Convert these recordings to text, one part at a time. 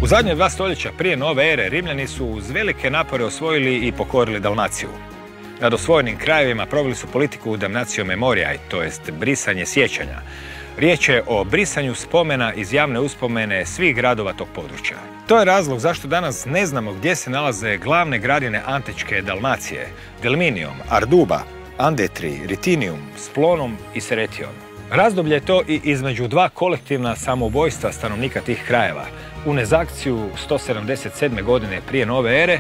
zadnje 2 stoljeća prije nove ere Rimljani su uz velike napore osvojili i pokorili Dalmaciju. Nad osvojenim krajevima proveli su politiku damnatio memoriae, to jest brisanje sjećanja. Riječ je o brisanju spomena iz javne uspomene svih gradova tog područja. To je razlog zašto danas ne znamo gdje se nalaze glavne gradine antičke Dalmacije: Delminium, Arduba, Andetri, Ritinium, Splonum i Seretium. Razdoblje je to i između 2 kolektivna samoubojstva stanovnika tih krajeva. U Nezakciju 177. godine prije nove ere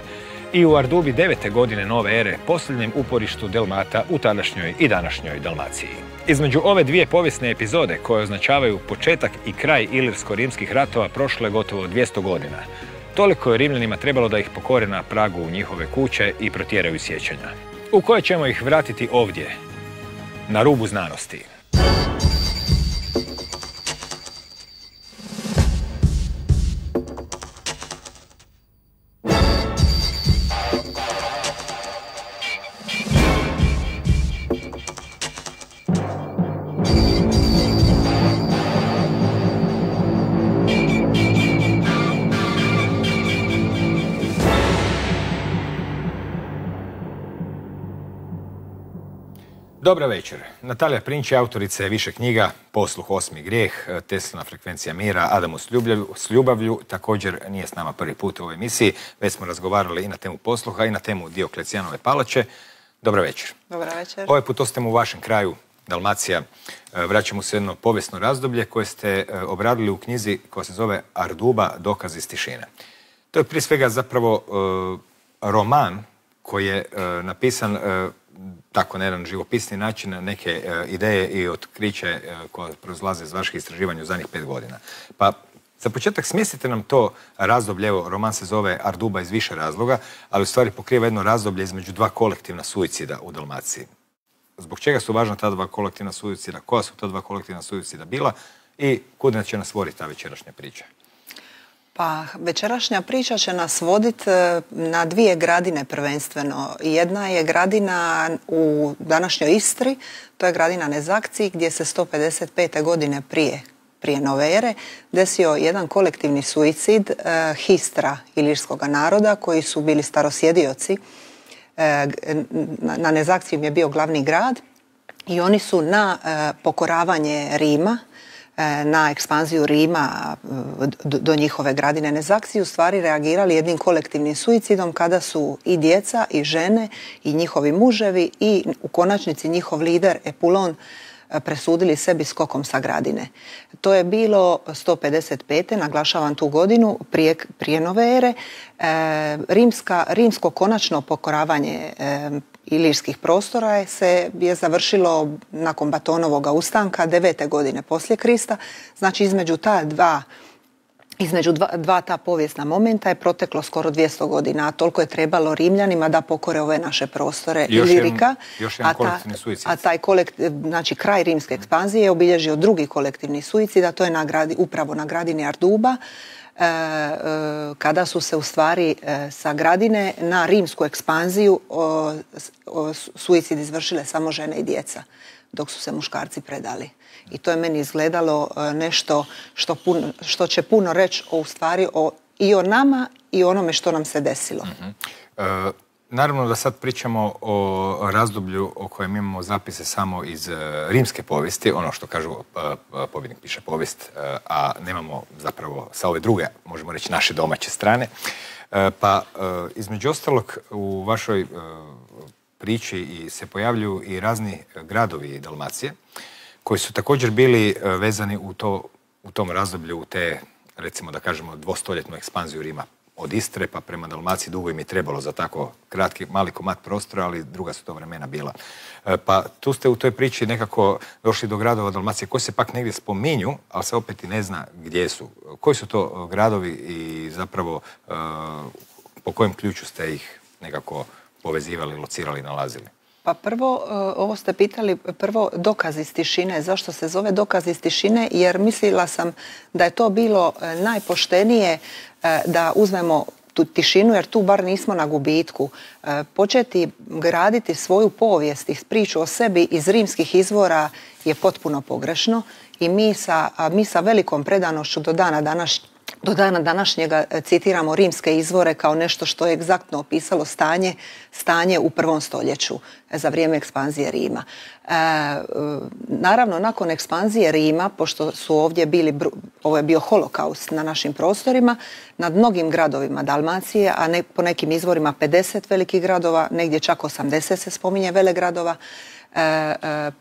i u Ardubi 9. godine nove ere, posljednjem uporištu Delmata u tadašnjoj i današnjoj Dalmaciji. Između ove 2 povijesne epizode koje označavaju početak i kraj ilirsko-rimskih ratova prošlo je gotovo 200 godina. Toliko je Rimljanima trebalo da ih pokore na pragu njihove kuće i protjeraju sjećanja, u koje ćemo ih vratiti ovdje, na rubu znanosti. Dobra večer. Natalija Prinč je autorica više knjiga: Posluh, 8. grijeh, Teslina frekvencija mira, Adamu s ljubavlju. Također nije s nama prvi put u ovoj emisiji. Već smo razgovarali i na temu posluha i na temu Dioklecijanove palače. Dobra večer. Dobra večer. Ovaj put ostajemo u vašem kraju, Dalmacija. Vraćamo se jedno povijesno razdoblje koje ste obradili u knjizi koja se zove Arduba, dokaz iz tišine. To je prije svega zapravo roman koji je napisan tako na jedan živopisni način, neke ideje i otkriće koje proizlaze iz vaših istraživanja u zadnjih 5 godina. Pa za početak smjestite nam to razdoblje, evo, roman se zove Arduba iz više razloga, ali u stvari pokriva jedno razdoblje između 2 kolektivna suicida u Dalmaciji. Zbog čega su važna ta 2 kolektivna suicida, koja su ta 2 kolektivna suicida bila i kuda će nas voditi ta večerašnja priča? Pa večerašnja priča će nas voditi na 2 gradine prvenstveno. Jedna je gradina u današnjoj Istri, to je gradina Nezakciji, gdje se 155. godine prije nove ere desio jedan kolektivni suicid histra ilirskog naroda koji su bili starosjedioci. Na Nezakciju je bio glavni grad i oni su na pokoravanje Rima, na ekspanziju Rima do njihove gradine Nezakciju u stvari reagirali jednim kolektivnim suicidom kada su i djeca i žene i njihovi muževi i u konačnici njihov lider Epulon presudili sebi skokom sa gradine. To je bilo 155. naglašavam tu godinu prije nove ere. Rimsko konačno pokoravanje ilirskih prostora je završilo nakon Batonovog ustanka 9. godine poslije Krista. Znači između dva ta povijesna momenta je proteklo skoro 200 godina, a toliko je trebalo Rimljanima da pokore ove naše prostore Ilirika. Još jedan kolektivni suicid. A taj znači kraj rimske ekspanzije je obilježio drugi kolektivni suicid, a to je upravo na gradini Arduba, kada su se u stvari sa gradine na rimsku ekspanziju suicid izvršile samo žene i djeca, dok su se muškarci predali. I to je meni izgledalo nešto što će puno reći i o nama i o onome što nam se desilo. Naravno da sad pričamo o razdoblju o kojem imamo zapise samo iz rimske povijesti, ono što kažu pobjednik piše povijest, a nemamo zapravo sa ove druge, možemo reći, naše domaće strane. Pa između ostalog u vašoj priči se pojavljuju i razni gradovi Dalmacije koji su također bili vezani u tom razdoblju, u te, recimo da kažemo, 200-ljetnu ekspanziju Rima. Od Istre pa prema Dalmaciji dugo im je trebalo za tako kratki, mali komad prostora, ali druga su to vremena bila. Pa tu ste u toj priči nekako došli do gradova Dalmacije koji se pak negdje spominju, ali se opet i ne zna gdje su. Koji su to gradovi i zapravo po kojem ključu ste ih nekako povezivali, locirali, nalazili? Pa prvo, ovo ste pitali, prvo dokaz iz tišine. Zašto se zove dokaz iz tišine? Jer mislila sam da je to bilo najpoštenije da uzmemo tu tišinu, jer tu bar nismo na gubitku. Početi graditi svoju povijest i priču o sebi iz rimskih izvora je potpuno pogrešno i mi sa velikom predanošću do dana do dana današnjega citiramo rimske izvore kao nešto što je egzaktno opisalo stanje u 1. stoljeću za vrijeme ekspanzije Rima. Naravno, nakon ekspanzije Rima, pošto su ovdje ovo je bio holokaust na našim prostorima, nad mnogim gradovima Dalmacije, a po nekim izvorima 50 velikih gradova, negdje čak 80 se spominje velegradova,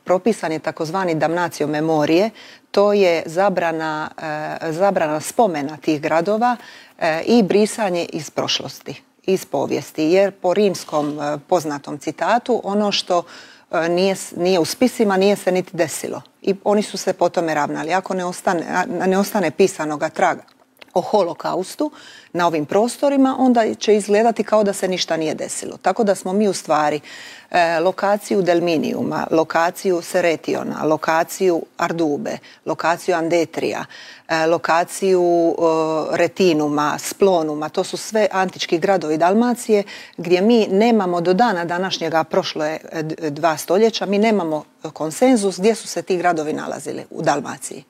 propisan je takozvani damnatio memorije, to je zabrana spomena tih gradova i brisanje iz prošlosti, iz povijesti, jer po rimskom poznatom citatu ono što nije u spisima nije se niti desilo i oni su se po tome ravnali. Ako ne ostane pisanoga traga o holokaustu na ovim prostorima, onda će izgledati kao da se ništa nije desilo. Tako da smo mi u stvari lokaciju Delminiuma, lokaciju Seretiona, lokaciju Ardube, lokaciju Andetrija, lokaciju Retinuma, Splonuma, to su sve antički gradovi Dalmacije gdje mi nemamo do dana današnjega, prošlo je 2 stoljeća, mi nemamo konsenzus gdje su se ti gradovi nalazili u Dalmaciji.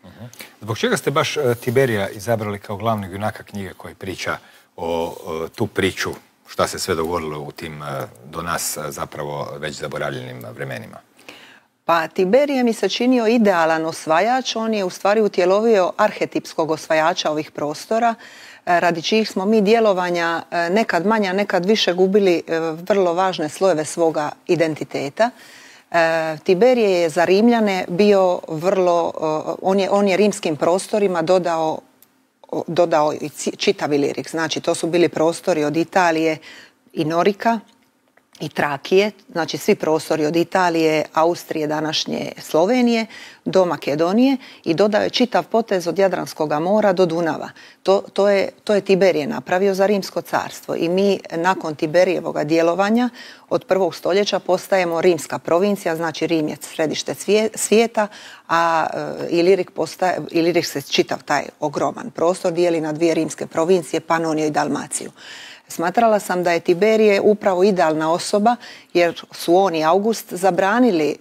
Zbog čega ste baš Tiberija izabrali kao glavnog junaka knjige koji priča o tu priču, šta se sve dogodilo u tim do nas zapravo već zaboravljenim vremenima? Pa Tiberije mi se činio idealan osvajač, on je u stvari utjelovio arhetipskog osvajača ovih prostora, radi čijih smo mi djelovanja nekad manja, nekad više gubili vrlo važne slojeve svoga identiteta. Tiberije je za Rimljane bio on je rimskim prostorima dodao i čitav Ilirik. Znači, to su bili prostori od Italije i Norika i Trakije, znači svi prostori od Italije, Austrije, današnje Slovenije do Makedonije i dodao je čitav potez od Jadranskog mora do Dunava. To je Tiberije napravio za Rimsko carstvo i mi nakon Tiberijevog djelovanja od 1. stoljeća postajemo rimska provincija, znači Rim je središte svijeta, a Ilirik se čitav taj ogroman prostor dijeli na 2 rimske provincije, Panoniju i Dalmaciju. Smatrala sam da je Tiberije upravo idealna osoba jer su on i August zabranili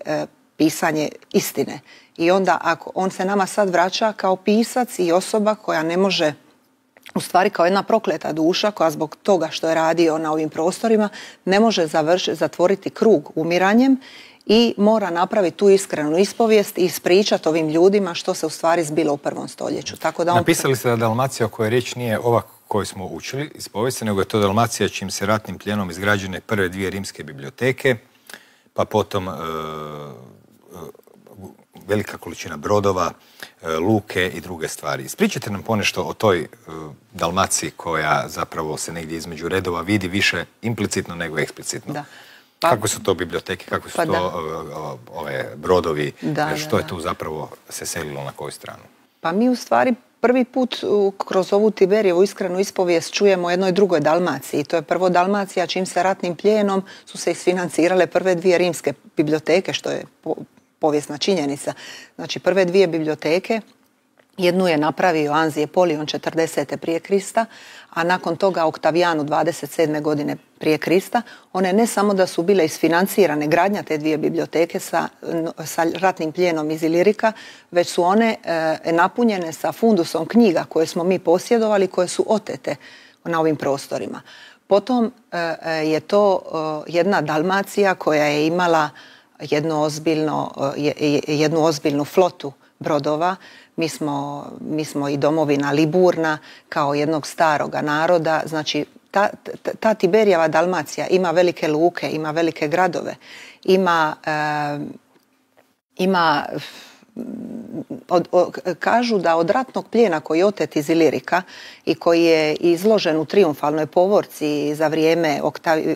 pisanje istine. I onda ako on se nama sad vraća kao pisac i osoba koja ne može, u stvari kao jedna prokleta duša koja zbog toga što je radio na ovim prostorima ne može zatvoriti krug umiranjem i mora napraviti tu iskrenu ispovijest i ispričati ovim ljudima što se u stvari zbilo u 1. stoljeću. Tako da napisali ste da Dalmacija o kojoj riječ nije ova koju smo učili iz povijesti, nego je to Dalmacija čim se ratnim pljenom izgrađene prve 2 rimske biblioteke, pa potom velika količina brodova, luke i druge stvari. Ispričajte nam ponešto o toj Dalmaciji koja zapravo se negdje između redova vidi više implicitno nego eksplicitno. Da. Kako su to biblioteke, kako su ove brodovi, što je tu zapravo se selilo na koju stranu? Pa mi u stvari prvi put kroz ovu Tiberijevu iskrenu ispovijest čujemo o jednoj drugoj Dalmaciji. To je prvo Dalmacija čim se ratnim plijenom su se isfinancirale prve 2 rimske biblioteke, što je povijesna činjenica. Znači prve 2 biblioteke, jednu je napravio Anzije Polion 40. prije Krista, a nakon toga Oktavijanu 27. godine prije Krista. One ne samo da su bile isfinancirane, gradnja te 2 biblioteke sa ratnim plijenom iz Ilirika, već su one napunjene sa fundusom knjiga koje smo mi posjedovali, koje su otete na ovim prostorima. Potom je to jedna Dalmacija koja je imala jednu ozbiljnu flotu brodova. Mi smo i domovina Liburna kao jednog staroga naroda. Znači, ta Tiberijeva Dalmacija ima velike luke, ima velike gradove, kažu da od ratnog plijena koji je otet iz Ilirika i koji je izložen u trijumfalnoj povorci za vrijeme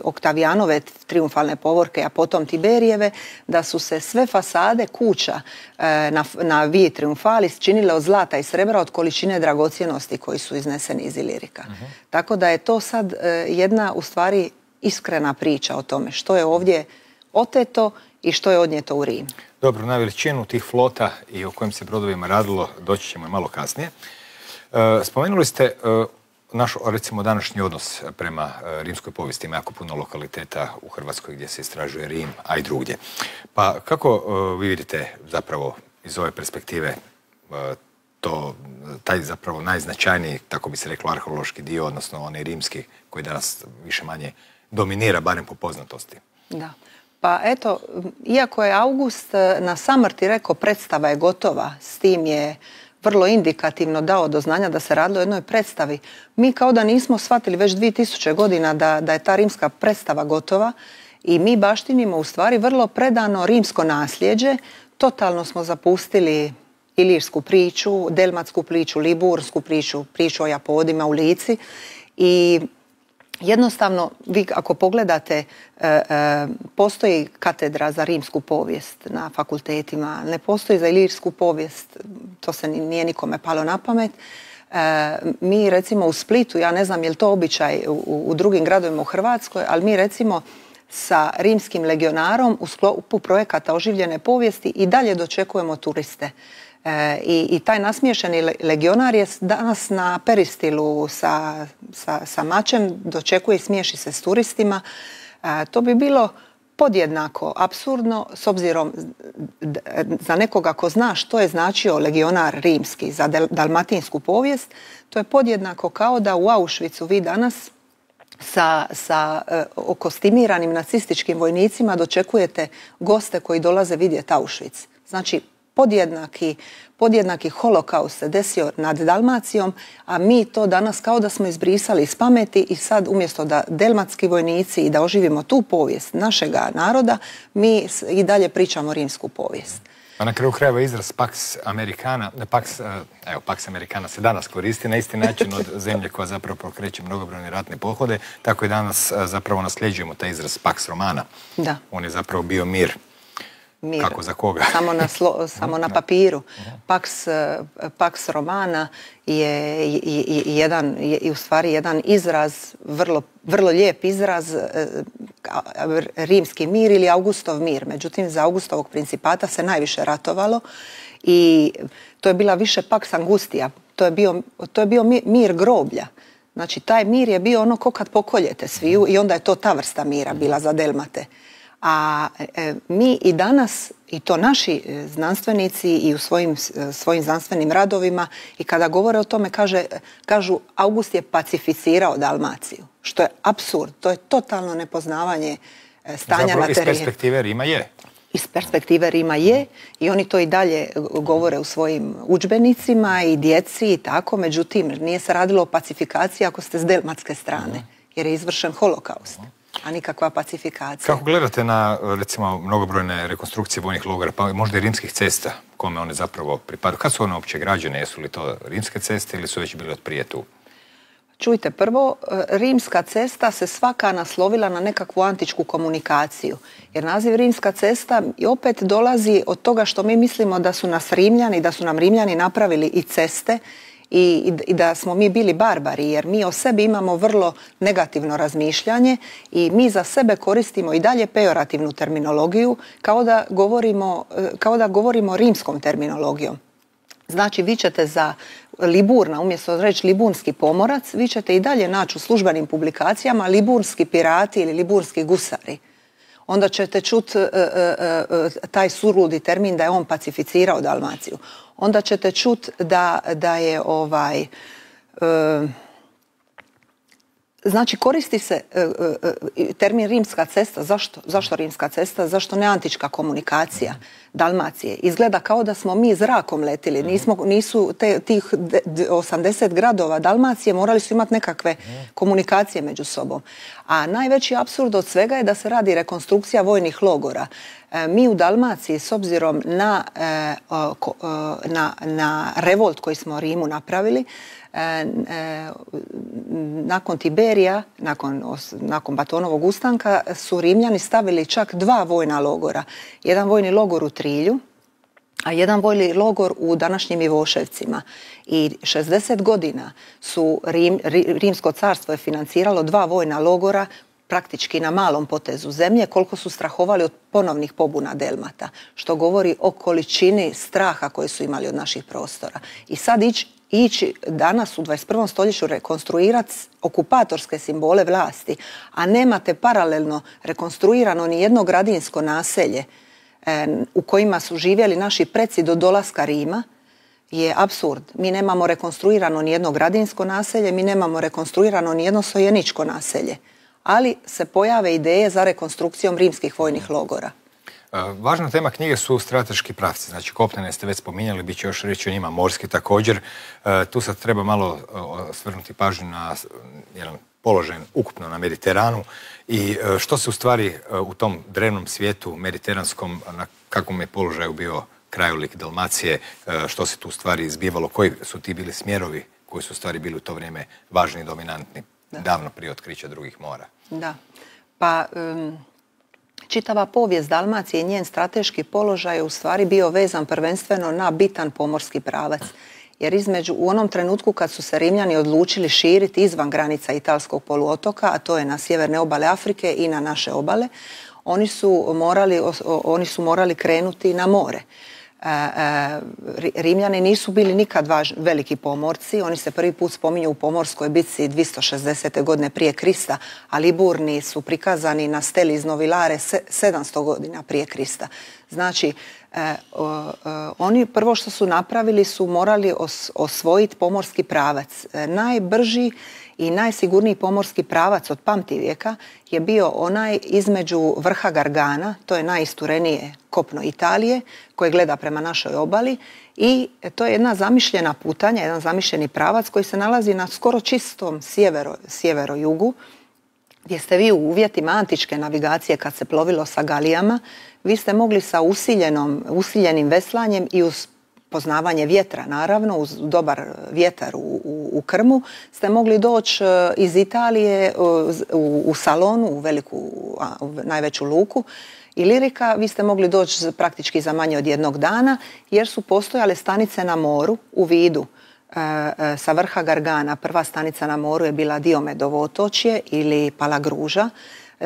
Oktavijanove trijumfalne povorke, a potom Tiberijeve, da su se sve fasade kuća na Vii Triumfalis činile od zlata i srebra od količine dragocjenosti koji su izneseni iz Ilirika. Tako da je to sad jedna u stvari iskrena priča o tome što je ovdje oteto i što je odnijeto u Rim. Dobro, na veličinu tih flota i o kojim se brodovima radilo doći ćemo malo kasnije. Spomenuli ste naš, recimo, današnji odnos prema rimskoj povijesti. Ima jako puno lokaliteta u Hrvatskoj gdje se istražuje Rim, a i drugdje. Pa kako vi vidite zapravo iz ove perspektive taj zapravo najznačajniji, tako bi se reklo, arheološki dio, odnosno onaj rimski koji danas više manje dominira, barem po poznatosti. Da. Pa eto, iako je August na samrti rekao predstava je gotova, s tim je vrlo indikativno dao do znanja da se radilo o jednoj predstavi. Mi kao da nismo shvatili već 2000 godina da je ta rimska predstava gotova i mi baštinimo u stvari vrlo predano rimsko nasljeđe. Totalno smo zapustili ilirsku priču, delmatsku priču, libursku priču, priču o Japodima u Lici i jednostavno, vi ako pogledate, postoji katedra za rimsku povijest na fakultetima, ne postoji za ilirsku povijest, to se nije nikome palo na pamet. Mi recimo u Splitu, ja ne znam je li to običaj u drugim gradovima u Hrvatskoj, ali mi recimo sa rimskim legionarom u sklopu projekata oživljene povijesti i dalje dočekujemo turiste. I taj nasmiješeni legionar je danas na peristilu sa mačem, dočekuje i smiješi se s turistima. To bi bilo podjednako apsurdno s obzirom za nekoga ko zna što je značio legionar rimski za dalmatinsku povijest. To je podjednako kao da u Auschwitzu vi danas sa okostimiranim nacističkim vojnicima dočekujete goste koji dolaze vidjeti Auschwitz. Znači, podjednaki holokaust se desio nad Dalmacijom, a mi to danas kao da smo izbrisali iz pameti i sad umjesto da delmatski vojnici i da oživimo tu povijest našega naroda, mi i dalje pričamo rimsku povijest. A na kraju krajeva izraz Pax Americana, Pax Americana se danas koristi na isti način od zemlje koja zapravo pokreće mnogobrojne ratne pohode, tako i danas zapravo nasljeđujemo taj izraz Pax Romana. Da. On je zapravo bio mir. Kako za koga? Samo na papiru. Pax Romana je u stvari jedan izraz, vrlo lijep izraz, rimski mir ili Augustov mir. Međutim, za Augustovog principata se najviše ratovalo i to je bila više Pax Angustia. To je bio mir groblja. Znači, taj mir je bio ono ko kad pokoljete sviju i onda je to ta vrsta mira bila za Delmate. A mi i danas, i to naši znanstvenici i u svojim znanstvenim radovima, i kada govore o tome kažu August je pacificirao Dalmaciju, što je apsurd, to je totalno nepoznavanje stanja na terenu. Iz perspektive Rima je. Iz perspektive Rima je i oni to i dalje govore u svojim udžbenicima i djeci i tako, međutim nije se radilo o pacifikaciji ako ste s delmatske strane, jer je izvršen holokaust, a nikakva pacifikacija. Kako gledate na, recimo, mnogobrojne rekonstrukcije vojnih logora, pa možda i rimskih cesta, kome one zapravo pripadaju? Kad su one uopće građene? Jesu li to rimske ceste ili su već bile od prije tu? Čujte, prvo, rimska cesta se svaka naslovila na nekakvu antičku komunikaciju. Jer naziv rimska cesta i opet dolazi od toga što mi mislimo da su nam Rimljani napravili i ceste i da smo mi bili barbari, jer mi o sebi imamo vrlo negativno razmišljanje i mi za sebe koristimo i dalje pejorativnu terminologiju kao da govorimo rimskom terminologijom. Znači, vi ćete za Liburna, umjesto reći liburnski pomorac, vi ćete i dalje naći u službenim publikacijama liburnski pirati ili liburnski gusari. Onda ćete čuti taj surludi termin da je on pacificirao Dalmaciju. Onda ćete čuti da je znači, koristi se termin rimska cesta. Zašto rimska cesta? Zašto ne antička komunikacija Dalmacije? Izgleda kao da smo mi zrakom letili. Nisu tih 80 gradova Dalmacije morali su imati nekakve komunikacije među sobom. A najveći apsurd od svega je da se radi rekonstrukcija vojnih logora. Mi u Dalmaciji, s obzirom na revolt koji smo Rimu napravili, nakon Tiberija, nakon Batonovog ustanka, su Rimljani stavili čak 2 vojna logora. Jedan vojni logor u Trilju, a jedan vojni logor u današnjim Ivoševcima. I 60 godina su Rimsko carstvo je financiralo 2 vojna logora praktički na malom potezu zemlje, koliko su strahovali od ponovnih pobuna Delmata, što govori o količini straha koje su imali od naših prostora. I sad ići danas u 21. stoljeću rekonstruirati okupatorske simbole vlasti, a nemate paralelno rekonstruirano ni jedno gradinsko naselje u kojima su živjeli naši preci do dolaska Rima, je apsurd. Mi nemamo rekonstruirano ni jedno gradinsko naselje, mi nemamo rekonstruirano ni jedno sojeničko naselje. Ali se pojave ideje za rekonstrukcijom rimskih vojnih logora. Važna tema knjige su strateški pravci. Znači, kopnene ste već spominjali, bit će još reći o njima, morski također. Tu sad treba malo svrnuti pažnju na jedan položaj ukupno na Mediteranu i što se u stvari u tom drevnom svijetu mediteranskom, na kakvom je položaju bio krajolik Dalmacije, što se tu u stvari izbivalo, koji su ti bili smjerovi koji su u stvari bili u to vrijeme važni i dominantni, davno prije otkrića drugih mora. Da, pa čitava povijest Dalmacije i njen strateški položaj je u stvari bio vezan prvenstveno na bitan pomorski pravac. Jer u onom trenutku kad su se Rimljani odlučili širiti izvan granica Italskog poluotoka, a to je na sjeverne obale Afrike i na naše obale, oni su morali krenuti na more. Rimljani nisu bili nikad veliki pomorci, oni se prvi put spominju u pomorskoj bitci 260. godine prije Krista, a Liburni su prikazani na steli iz Novilare 700 godina prije Krista. Znači, oni prvo što su napravili su morali osvojiti pomorski pravac. Najbrži i najsigurniji pomorski pravac od pamtivijeka je bio onaj između vrha Gargana, to je najisturenije kopno Italije, koje gleda prema našoj obali, i to je jedna zamišljena putanja, jedan zamišljeni pravac koji se nalazi na skoro čistom sjevero-jugu, gdje ste vi u uvjetima antičke navigacije kad se plovilo sa galijama, vi ste mogli sa usiljenim veslanjem i uz poznavanje vjetra, naravno, uz dobar vjetar u krmu, ste mogli doći iz Italije u Salonu, u najveću luku Ilirika, vi ste mogli doći praktički za manje od jednog dana, jer su postojale stanice na moru u Vidu. Sa vrha Gargana prva stanica na moru je bila Diomedovo otočje ili Palagruža.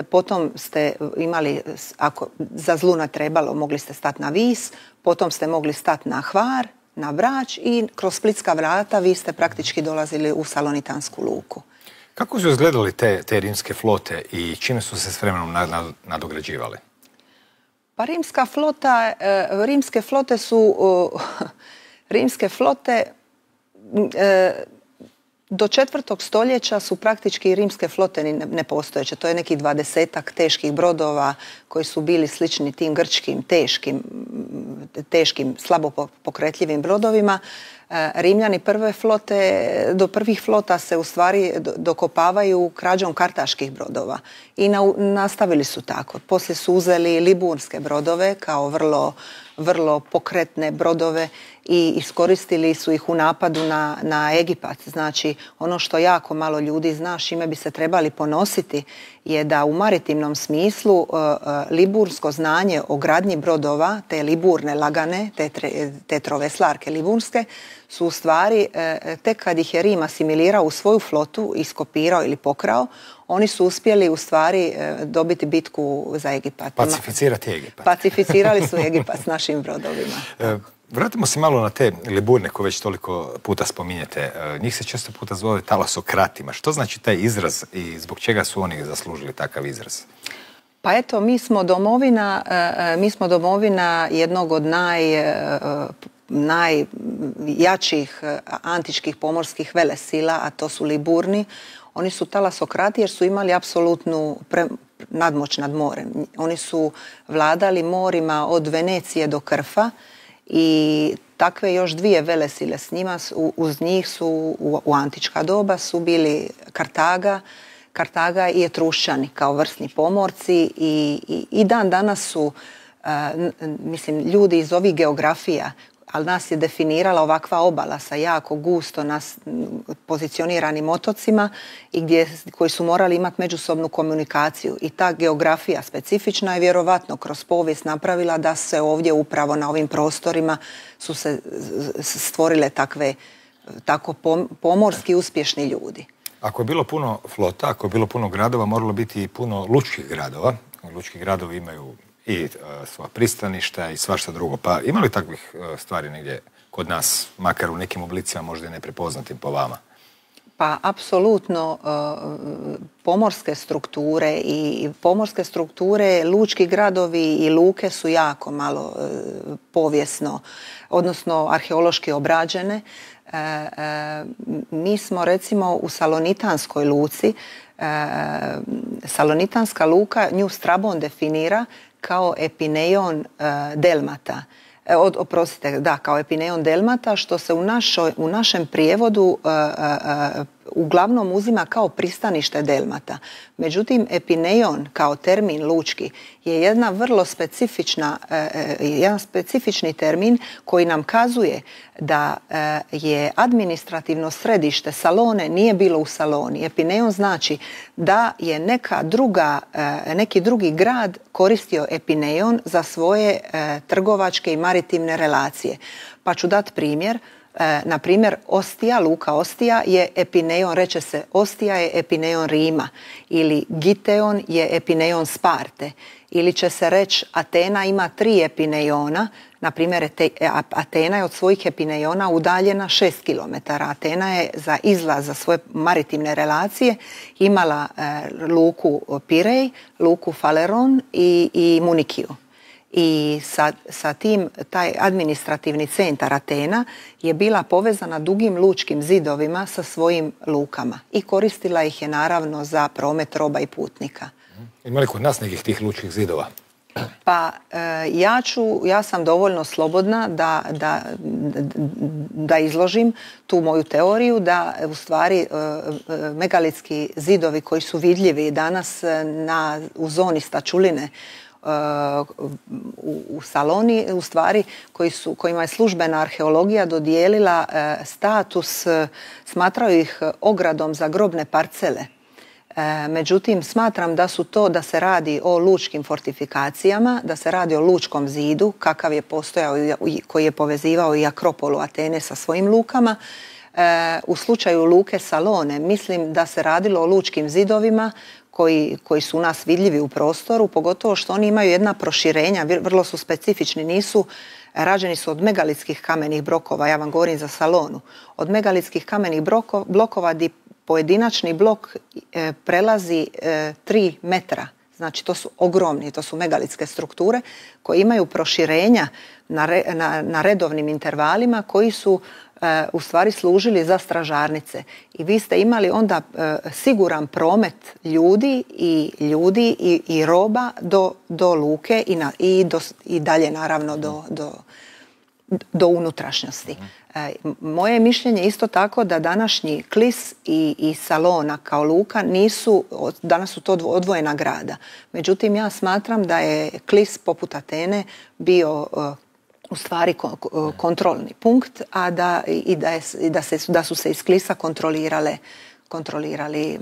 Potom ste imali, ako za zlu ne trebalo, mogli ste stati na Vis, potom ste mogli stati na Hvar, na Brač i kroz Splitska vrata vi ste praktički dolazili u Salonitansku luku. Kako su izgledali te rimske flote i čime su se s vremenom nadograđivali? Pa rimske flote do 4. stoljeća su praktički rimske flote nepostojeće. To je nekih 20-ak teških brodova koji su bili slični tim grčkim teškim, slabo pokretljivim brodovima. Rimljani do prvih flota se u stvari dokopavaju krađom kartaških brodova i nastavili su tako. Poslije su uzeli liburske brodove kao vrlo pokretne brodove i iskoristili su ih u napadu na Egipat. Znači, ono što jako malo ljudi zna, čime bi se trebali ponositi, je da u maritimnom smislu libursko znanje o gradnji brodova, te liburne lagane, te troveslarke liburske, su u stvari, tek kad ih je Rim asimilirao u svoju flotu, iskopirao ili pokrao, oni su uspjeli u stvari dobiti bitku za Egipat. Pacificirati Egipat. Pacificirali su Egipat s našim brodovima. Vratimo se malo na te liburne koje već toliko puta spominjete. Njih se često puta zove talasokratima. Što znači taj izraz i zbog čega su oni zaslužili takav izraz? Pa eto, mi smo domovina jednog od najjačih antičkih pomorskih velesila, a to su Liburni. Oni su talasokrati jer su imali apsolutnu nadmoć nad morem. Oni su vladali morima od Venecije do Krfa i takve još dvije velesile s njima, uz njih su u antička doba su bili Kartaga i Etrušćani kao vrsni pomorci i dan danas su, ljudi iz ovih geografija, ali nas je definirala ovakva obala sa jako gusto pozicioniranim otocima i koji su morali imati međusobnu komunikaciju. I ta geografija specifična je vjerovatno kroz povijest napravila da se ovdje upravo na ovim prostorima su se stvorile tako pomorski uspješni ljudi. Ako je bilo puno flota, ako je bilo puno gradova, moralo biti i puno lučkih gradova. Lučki gradovi imaju i svoja pristaništa i svašta drugo. Pa ima li takvih stvari negdje kod nas, makar u nekim oblicima možda i neprepoznatim po vama? Pa apsolutno pomorske strukture, lučki gradovi i luke su jako malo povijesno, odnosno arheološki obrađene. Mi smo recimo u Salonitanskoj luci, Salonitanska luka nju Strabon definira kao epineion Delmata. Oprostite, da, kao epineion Delmata, što se u našem prijevodu uglavnom uzima kao pristanište Delmata. Međutim, epineion kao termin lučki je jedan specifični termin koji nam kazuje da je administrativno središte Salone nije bilo u Saloni. Epineion znači da je neki drugi grad koristio epineion za svoje trgovačke i maritimne relacije. Pa ću dati primjer. Na primjer, Ostija, luka Ostija je epineion, reče se Ostija je epineion Rima, ili Giteon je epineion Sparte, ili će se reći Atena ima 3 epineiona. Na primjer, Atena je od svojih epineiona udaljena 6 km. Atena je za izlaz za svoje maritimne relacije imala luku Pirej, luku Faleron i Munikiju. I sa tim taj administrativni centar Atena je bila povezana dugim lučkim zidovima sa svojim lukama i koristila ih je naravno za promet roba i putnika. Ima li kod nas nekih tih lučkih zidova? Pa ja sam dovoljno slobodna da izložim tu moju teoriju da u stvari megalitski zidovi koji su vidljivi danas u zoni Stačuline u Saloni, u stvari kojima je službena arheologija dodijelila status, smatraju ih ogradom za grobne parcele. Međutim, smatram da se radi o lučkim fortifikacijama, da se radi o lučkom zidu, kakav je postojao i koji je povezivao i Akropolu Atene sa svojim lukama. U slučaju luke Salone mislim da se radilo o lučkim zidovima koji su u nas vidljivi u prostoru, pogotovo što oni imaju jedna proširenja, vrlo su specifični, rađeni su od megalitskih kamenih blokova, ja vam govorim za Salonu, od megalitskih kamenih blokova gdje pojedinačni blok prelazi 3 metra. Znači to su ogromni, to su megalitske strukture koje imaju proširenja na redovnim intervalima koji su u stvari služili za stražarnice. I vi ste imali onda siguran promet ljudi i roba do luke i dalje naravno do unutrašnjosti. Moje mišljenje je isto tako da današnji Klis i Salona kao luka danas su to odvojena grada. Međutim, ja smatram da je Klis poput Atene bio u stvari kontrolni punkt, a da su se iz Klisa kontrolirali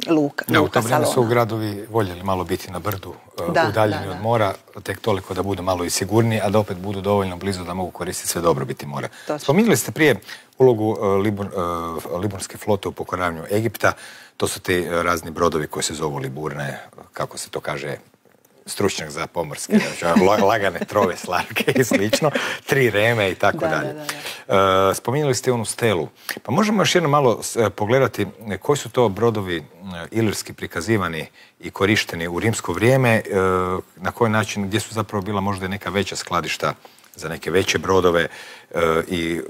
luka U to vrijeme Salona. su gradovi voljeli malo biti na brdu, udaljeni od mora, tek toliko da budu malo i sigurniji, a da opet budu dovoljno blizu da mogu koristiti sve dobrobiti mora. Spominjali ste prije ulogu Liburnske flote u pokoravanju Egipta. To su ti razni brodovi koji se zovu Liburne, kako se to kaže, stručnjak za pomorske, lagane trove, slarke i slično, 3 reme i tako dalje. Spominjali ste onu stelu. Pa možemo još jedno malo pogledati koji su to brodovi ilirski prikazivani i korišteni u rimsko vrijeme, na koji način, gdje su zapravo bila možda neka veća skladišta za neke veće brodove i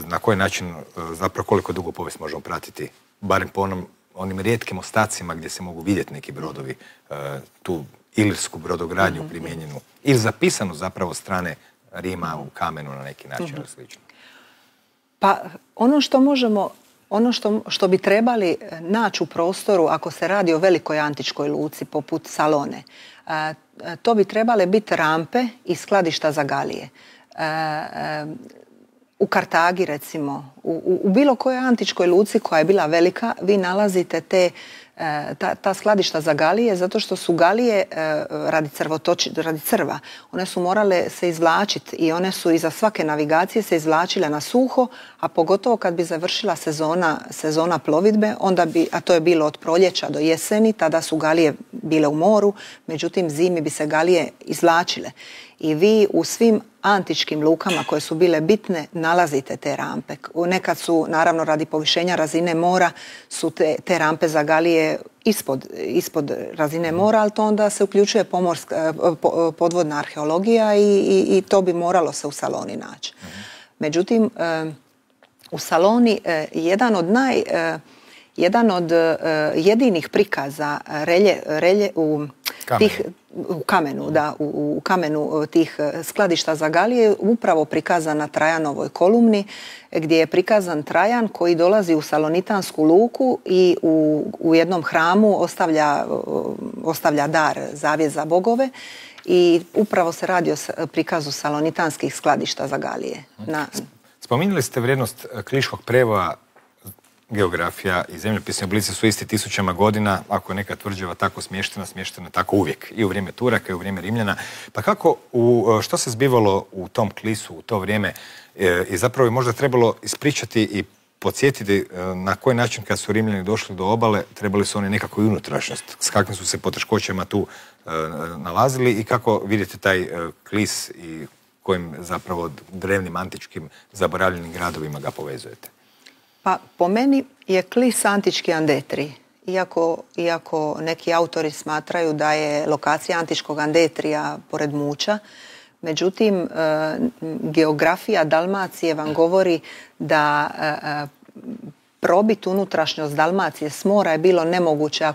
na koji način, zapravo koliko dugo povijest možemo pratiti, barem po onim rijetkim ostacima gdje se mogu vidjeti neki brodovi, tu ilirsku brodogradnju primijenjenu ili zapisanu zapravo strane Rima u kamenu na neki način ili slično. Pa ono što bi trebali naći u prostoru ako se radi o velikoj antičkoj luci poput Salone, to bi trebale biti rampe i skladišta za galije. U Kartagi recimo, u bilo kojoj antičkoj luci koja je bila velika, vi nalazite ta skladišta za galije, zato što su galije radi crva. One su morale se izvlačiti i one su iza svake navigacije se izvlačile na suho, a pogotovo kad bi završila sezona plovidbe, a to je bilo od proljeća do jeseni, tada su galije bile u moru, međutim zimi bi se galije izvlačile. i vi u svim antičkim lukama koje su bile bitne nalazite te rampe. Nekad su, naravno radi povišenja razine mora, su te rampe za galije ispod razine mora, ali to onda se uključuje podvodna arheologija i to bi moralo se u Saloni naći. Međutim, u Saloni jedan od jedinih prikaza u kamenu tih skladišta za galije je upravo prikazan na Trajanovoj kolumni, gdje je prikazan Trajan koji dolazi u Salonitansku luku i u jednom hramu ostavlja dar, zavjet za bogove, i upravo se radi o prikazu salonitanskih skladišta za galije. Spominjali ste vrijednost Kliškog prevoja. Geografija i zemljopisne oblici su isti tisućama godina. Ako je neka tvrđava tako smještena je tako uvijek. I u vrijeme Turaka i u vrijeme Rimljana. Pa kako, što se zbivalo u tom Klisu u to vrijeme i zapravo je možda trebalo ispričati i podsjetiti na koji način kad su Rimljani došli do obale trebali su oni nekako i unutrašnjost. S kakvim su se poteškoćama tu nalazili i kako vidite taj Klis i kojim zapravo drevnim antičkim zaboravljenim gradovima ga povezujete? Pa po meni je Klis antički Andetri. Iako neki autori smatraju da je lokacija antičkog Andetrija pored Muća, međutim geografija Dalmacije vam govori da probiti unutrašnjost Dalmacije s mora je bilo nemoguće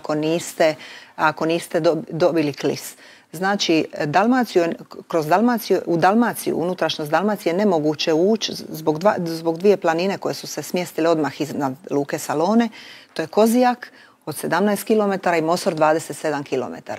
ako niste dobili Klis. Znači, u Dalmaciju, unutrašnjost Dalmacije je nemoguće ući zbog dvije planine koje su se smjestile odmah iznad luke Salone. To je Kozijak od 17 km i Mosor 27 km.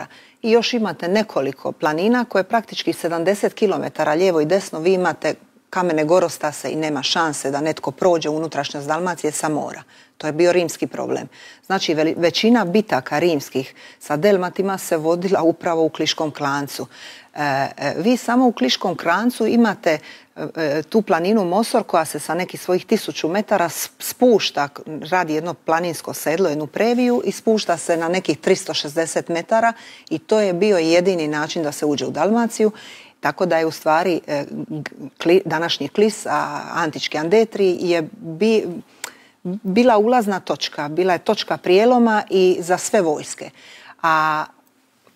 I još imate nekoliko planina koje praktički 70 km lijevo i desno vi imate kamene gorostase i nema šanse da netko prođe u unutrašnjost Dalmacije sa mora. To je bio rimski problem. Znači, većina bitaka rimskih sa Delmatima se vodila upravo u Kliškom klancu. Vi samo u Kliškom klancu imate tu planinu Mosor koja se sa nekih svojih 1000 metara spušta, radi jedno planinsko sedlo, jednu previju i spušta se na nekih 360 metara i to je bio jedini način da se uđe u Dalmaciju. Tako da je u stvari današnji Klis, antički Andetri, je bila ulazna točka, bila je točka prijeloma i za sve vojske. A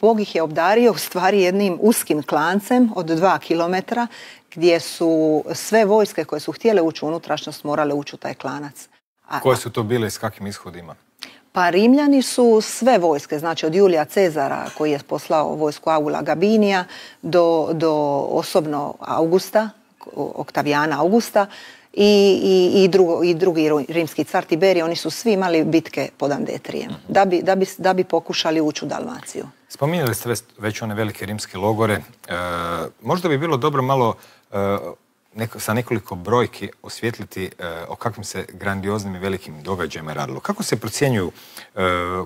Bog ih je obdario u stvari jednim uskim klancem od 2 km gdje su sve vojske koje su htjele ući u unutrašnjost morale ući u taj klanac. Koje su to bile i s kakvim ishodima? Pa Rimljani su sve vojske, znači od Julija Cezara koji je poslao vojsku Aula Gabinija do osobno Augusta, Oktavijana Augusta i drugi rimski car Tiberij, oni su svi imali bitke pod Andetrijem da bi pokušali ući u Dalmaciju. Spominjali ste već one velike rimske logore. Možda bi bilo dobro malo sa nekoliko brojki osvijetliti o kakvim se grandioznim i velikim događajima radilo. Kako se procjenjuju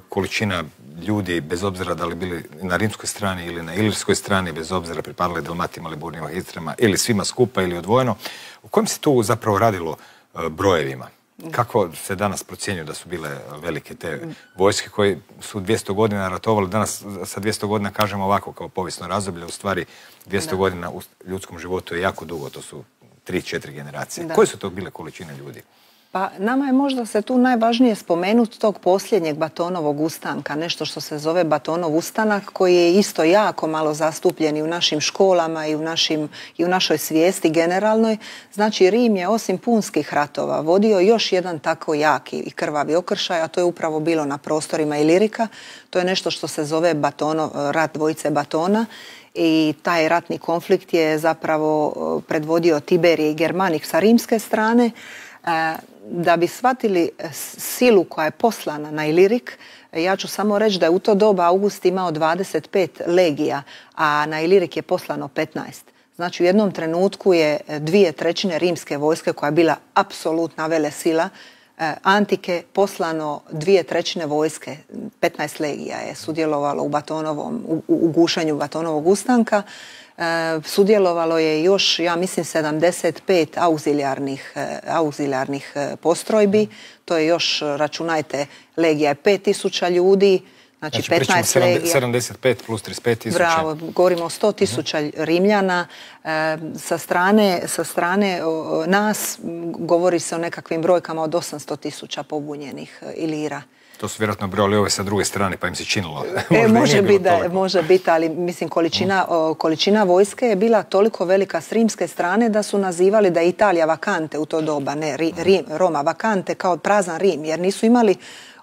količina ljudi, bez obzira da li bili na rimskoj strani ili na ilirskoj strani, bez obzira pripadali Dalmatima, Liburnima, Istrama, ili svima skupa ili odvojeno, u kojem se tu zapravo radilo brojevima? Kako se danas procjenjuju da su bile velike te vojske koje su 200 godina ratovali? Danas sa 200 godina kažemo ovako kao povijesno razdoblje, u stvari 200 godina u ljudskom životu je jako dugo, to su 3-4 generacije. Koje su to bile količine ljudi? Pa nama je možda se tu najvažnije spomenuti tog posljednjeg Batonovog ustanka, nešto što se zove Batonov ustanak, koji je isto jako malo zastupljen i u našim školama i u našoj svijesti generalnoj. Znači, Rim je osim punskih ratova vodio još jedan tako jaki i krvavi okršaj, a to je upravo bilo na prostorima Ilirika. To je nešto što se zove rat dvojice Batona. I taj ratni konflikt je zapravo predvodio Tiberij i Germanik sa rimske strane. Da bi shvatili silu koja je poslana na Ilirik, ja ću samo reći da je u to doba August imao 25 legija, a na Ilirik je poslano 15. Znači u jednom trenutku je 2/3 rimske vojske koja je bila apsolutna velesila antike poslano 2/3 vojske, 15 legija je sudjelovalo u gušenju Batonovog ustanka. Sudjelovalo je još, ja mislim, 75 auxilijarnih postrojbi. To je još, računajte, legija je 5000 ljudi, Znači 15 legija. 75 plus 35 tisuća. Bravo, govorimo o 100 tisuća Rimljana. Sa strane nas govori se o nekakvim brojkama od 800 tisuća pobunjenih Ilira. To su vjerojatno brojali ove sa druge strane, pa im se činilo. Može biti, ali mislim količina vojske je bila toliko velika s rimske strane da su nazivali da je Italija vakante u to doba, ne Roma vakante, kao prazan Rim, jer nisu imali,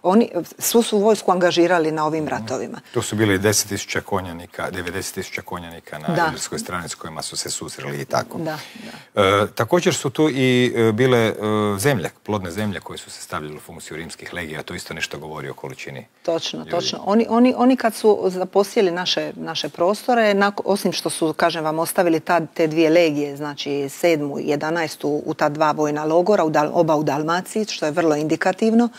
oni svu su vojsku angažirali na ovim ratovima. Tu su bili 10.000 konjanika, 90.000 konjanika na ilirskoj strani s kojima su se susreli i tako. Također su tu i bile zemlje, plodne zemlje koje su se stavljale u funkciju rimskih legija, to isto nešto govori o količini. Točno. Oni kad su zaposjeli naše prostore, osim što su, kažem vam, ostavili te dvije legije, znači 7. i 11. u ta dva vojna logora, oba u Dalmaciji, što je vrlo indikativno,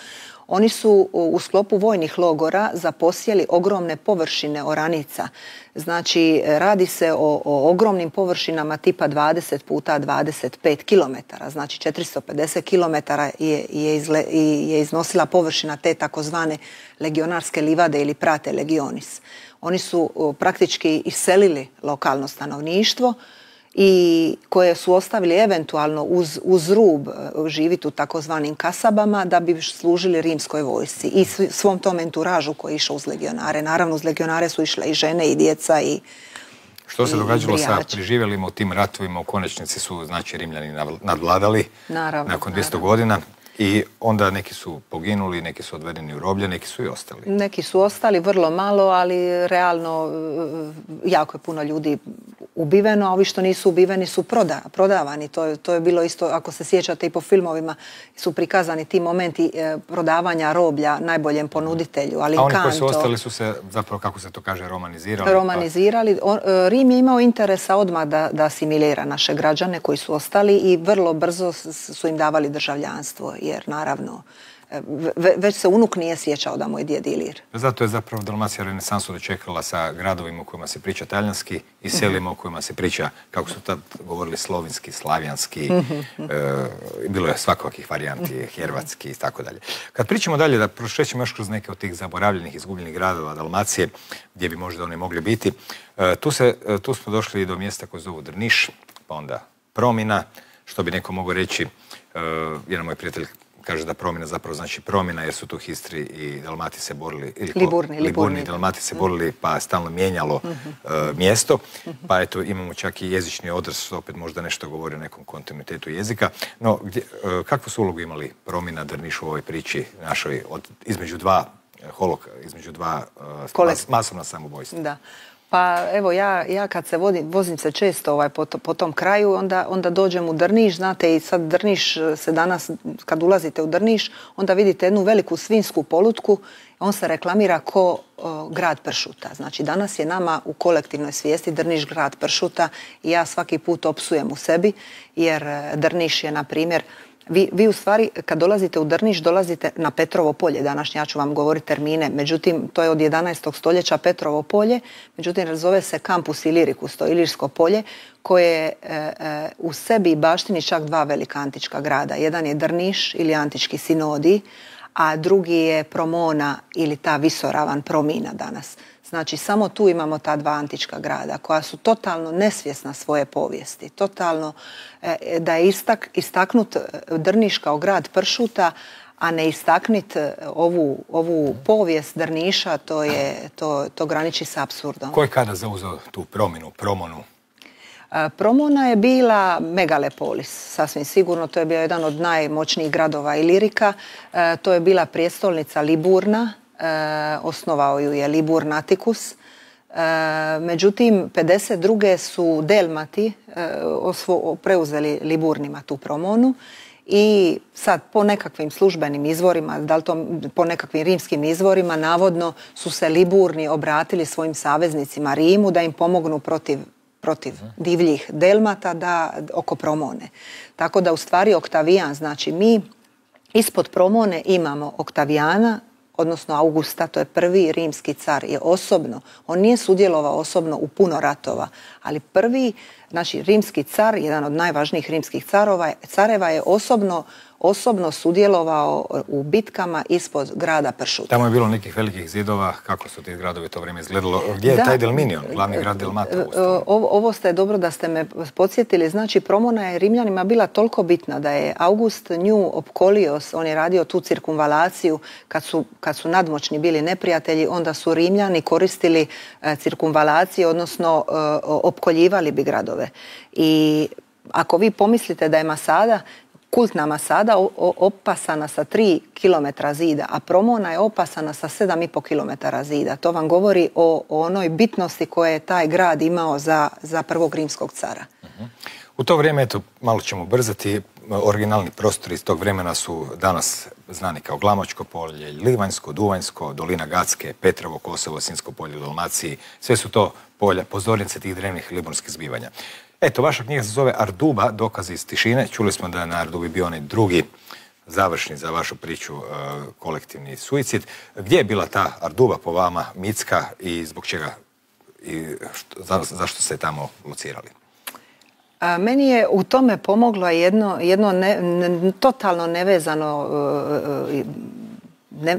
oni su u sklopu vojnih logora zaposjeli ogromne površine oranica. Znači, radi se o ogromnim površinama tipa 20 puta 25 km. Znači, 450 km je iznosila površina te takozvane legionarske livade ili prate legionis. Oni su praktički iselili lokalno stanovništvo i koje su ostavili eventualno uz rub živjeti u takozvanim kasabama da bi služili rimskoj vojsci i svom tom enturažu koji je išao uz legionare. Naravno, uz legionare su išle i žene i djeca i što se događalo sa preživjelima u tim ratovima? U konačnici su, znači, Rimljani nadvladali nakon 200 godina. I onda neki su poginuli, neki su odvedeni u roblje, neki su i ostali. Neki su ostali, vrlo malo, ali realno jako je puno ljudi ubiveno, a ovi što nisu ubiveni su prodavani. To je bilo isto, ako se sjećate, i po filmovima su prikazani ti momenti prodavanja roblja najboljem ponuditelju. A oni koji su ostali su se, zapravo, kako se to kaže, romanizirali? Romanizirali. Rim je imao interesa odmah da asimilira naše građane koji su ostali i vrlo brzo su im davali državljanstvo. Jer naravno, već se unuk nije sjećao da mu je djed Ilir. Zato je zapravo Dalmacija renesansu dočekala sa gradovima u kojima se priča talijanski i selima u kojima se priča, kako su tad govorili, slovinski, slavijanski, bilo je svakakvih varijanti, hervatski i tako dalje. Kad pričamo dalje, da prošećemo još kroz neke od tih zaboravljenih, izgubljenih gradova Dalmacije, gdje bi možda oni mogli biti, tu smo došli i do mjesta koje zovu Drniš, pa onda Promina, što bi neko mogao reći. Jedan moj prijatelj kaže da Promina zapravo znači promjena, jer su tu Histri i Dalmati se borili, Liburni i Dalmati se borili, pa stalno mijenjalo mjesto. Pa eto, imamo čak i jezični odraz, što opet možda nešto govori o nekom kontinuitetu jezika. No, kakvu su ulogu imali Promina, Drniš u ovoj priči našoj između dva masovna samoubojstva? Da. Pa evo, ja kad se vozim se često po tom kraju, onda dođem u Drniš, znate, i sad Drniš se danas, kad ulazite u Drniš, onda vidite jednu veliku svinjsku polutku, on se reklamira ko grad pršuta. Znači, danas je nama u kolektivnoj svijesti Drniš grad pršuta i ja svaki put opsujem u sebi, jer Drniš je, na primjer, vi u stvari, kad dolazite u Drniš, dolazite na Petrovo polje. Današnje, ja ću vam govoriti termine, međutim, to je od 11. stoljeća Petrovo polje, međutim, zove se Campus Illyricus, to je Ilirsko polje, koje u sebi baštini čak dva velika antička grada. Jedan je Drniš ili antički Sinodij, a drugi je Promona ili ta visoravan Promina danas. Znači, samo tu imamo ta dva antička grada koja su totalno nesvjesna svoje povijesti. Totalno da je istaknut Drniš kao grad pršuta, a ne istaknit ovu povijest Drniša, to graniči s apsurdom. Ko je kada zauzeo tu Promonu? Promona je bila megalopolis, sasvim sigurno. To je bio jedan od najmoćnijih gradova Ilirika. To je bila prijestolnica Liburna. Osnovao ju je Liburn Atticus. Međutim, 52. su Delmati preuzeli Liburnima tu Promonu i sad po nekakvim službenim izvorima, da li to po nekakvim rimskim izvorima, navodno su se Liburni obratili svojim saveznicima Rimu da im pomognu protiv divljih Delmata oko Promone. Tako da u stvari Oktavijan, znači mi ispod Promone imamo Oktavijana, odnosno Augusta, to je prvi rimski car, je osobno, on nije sudjelovao osobno u puno ratova, ali prvi, znači rimski car, jedan od najvažnijih rimskih careva je osobno osobno sudjelovao u bitkama ispod grada Pršut. Tamo je bilo nekih velikih zidova, kako su ti gradovi to vrijeme izgledalo? Gdje je taj Delminion, glavni grad Dalmacije? Ovo ste dobro da ste me podsjetili. Znači, Promona je Rimljanima bila toliko bitna da je August nju opkolio, on je radio tu cirkumvalaciju kad su nadmoćni bili neprijatelji, onda su Rimljani koristili cirkumvalacije, odnosno opkoljivali bi gradove. I ako vi pomislite da je Masada, kultna Masada opasana sa 3 km zida, a Promona je opasana sa 7,5 km zida. To vam govori o onoj bitnosti koje je taj grad imao za prvog rimskog cara. U to vrijeme, eto, malo ćemo brzati, originalni prostori iz tog vremena su danas znani kao Glamočko polje, Livanjsko, Duvanjsko, Dolina Gacke, Petrovo, Kosovo, Sinjsko polje u Dalmaciji. Sve su to polja, pozornice tih drevnih liburskih zbivanja. Eto, vaša knjiga se zove Arduba, dokazi iz tišine. Čuli smo da je na Ardubi bio onaj drugi završni za vašu priču kolektivni suicid. Gdje je bila ta Arduba po vama, mitska, i zbog čega i zašto ste tamo locirali? Meni je u tome pomoglo jedno totalno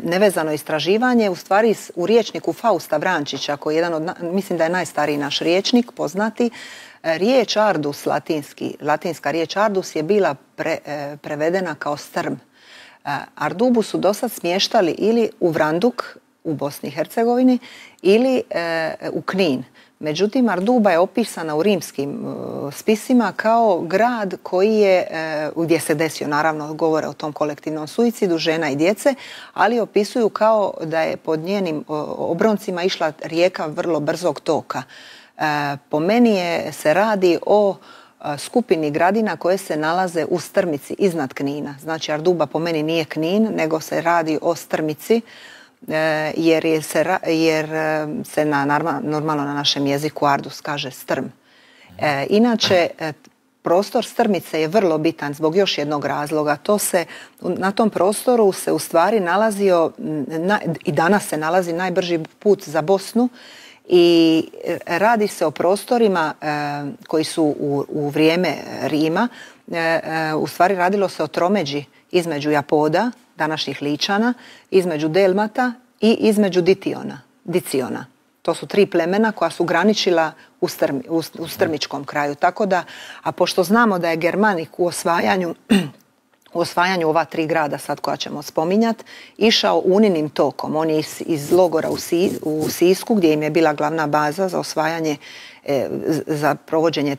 nevezano istraživanje, u stvari u rječniku Fausta Vrančića, koji je jedan od, mislim da je najstariji naš rječnik, poznati. Riječ Ardus, latinska riječ Ardus je bila prevedena kao strm. Ardubu su dosad smještali ili u Vranduk u Bosni i Hercegovini ili u Knin. Međutim, Arduba je opisana u rimskim spisima kao grad koji je, gdje se desio, naravno, govore o tom kolektivnom suicidu žena i djece, ali opisuju kao da je pod njenim obroncima išla rijeka vrlo brzog toka. Po meni se radi o skupini gradina koje se nalaze u Strmici iznad Knina. Znači, Arduba po meni nije Knin, nego se radi o Strmici, jer se normalno na našem jeziku Ardus kaže strm. Inače, prostor Strmice je vrlo bitan zbog još jednog razloga. Na tom prostoru se u stvari nalazio, i danas se nalazi, najbrži put za Bosnu, i radi se o prostorima koji su u vrijeme Rima, u stvari radilo se o tromeđi između Japoda, današnjih Ličana, između Delmata i između Diciona. To su 3 plemena koja su graničila u Strmičkom kraju. Tako da, a pošto znamo da je Germanik u osvajanju ova 3 grada sad koja ćemo spominjati, išao Uninim tokom. On je iz logora u Sisku, gdje im je bila glavna baza za osvajanje, za provođenje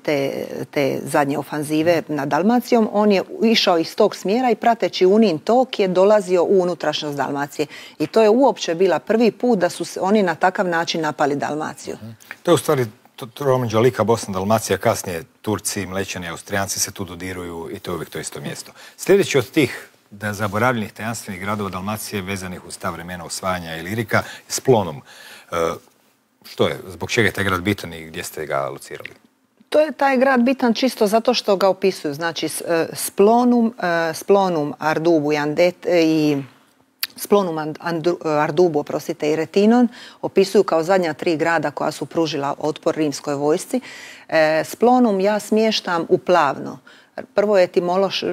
te zadnje ofanzive nad Dalmacijom. On je išao iz tog smjera i prateći Unin tok je dolazio u unutrašnjost Dalmacije. I to je uopće bila prvi put da su oni na takav način napali Dalmaciju. To je u stvari tromeđa Lika, Bosna, Dalmacija, kasnije Turci, Mlećani, Austrijanci se tu dodiruju i to je uvijek to isto mjesto. Sljedeći od tih zaboravljenih tajanstvenih gradova Dalmacije vezanih uz ta vremena osvajanja Ilirika je Splonum. Što je? Zbog čega je taj grad bitan i gdje ste ga locirali? To je taj grad bitan čisto zato što ga opisuju. Znači, Splonum, Ardubu i Splonum, Ardubu, i Retinon opisuju kao zadnja 3 grada koja su pružila otpor rimskoj vojsci. Splonum ja smještam u Plavno. Prvo